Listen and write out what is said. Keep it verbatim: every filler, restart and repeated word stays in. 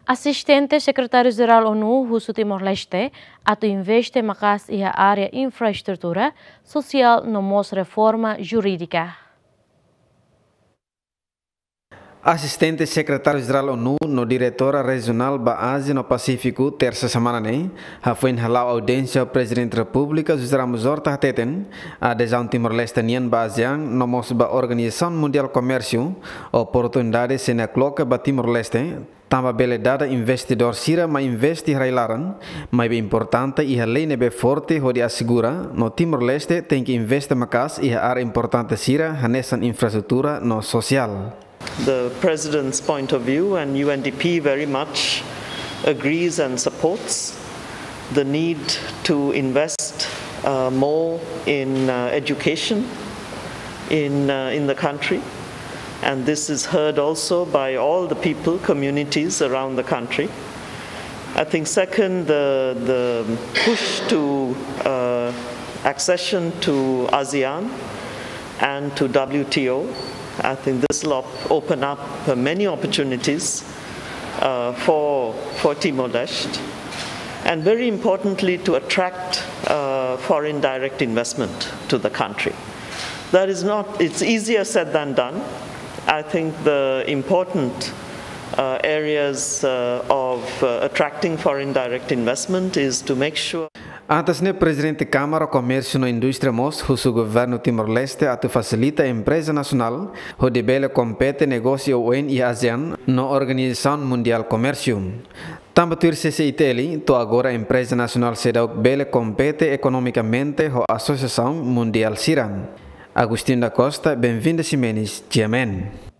Asistente Sekretáriu Jerál ONU husu Timor-Leste atu investe maka'as iha área infraestrutura, sosiál no mós reforma jurídika. Asistente Sekretáriu Jerál ONU no Diretora Rejionál ba Ázia no Pasífiku, tersa semana ne'e, hafoin hala'o audiénsia ho Prezidente Repúblika José Ramos Horta, hateten adezaun Timor-Leste nian ba ASEAN no mós ba Organizasaun Mundiál Komérsiu oportunidade sei nakloke ba Timor-Leste, tanba bele dada investidór sira mai investe iha rai-laran, maibé importante iha lei ne'ebé forte hodi asegura no Timor-Leste tenke investe maka'as iha área importante sira hanesan infraestrutura no sosiál. The President's point of view, and U N D P very much agrees and supports the need to invest uh, more in uh, education in, uh, in the country. And this is heard also by all the people, communities around the country. I think second, the, the push to uh, accession to ASEAN and to W T O. I think this will op- open up uh, many opportunities uh, for, for Timor-Leste, and very importantly, to attract uh, foreign direct investment to the country. That is not, it's easier said than done. I think the important uh, areas uh, of uh, attracting foreign direct investment is to make sure Antes ne'e, Prezidente Kámara Komérsiu no Indústria mós husu Governu Timor-Leste atu fasilita empreza nasionál hodi bele kompete negósiu oioin iha ASEAN no Organizasaun Mundiál Komérsiu. Tanba tuir C C I T L, to'o agora empreza nasionál seidauk bele kompete ekonomikamente ho asosiasaun mundiál sira. Agostinho da Costa, Benvinda Ximenes, G M N.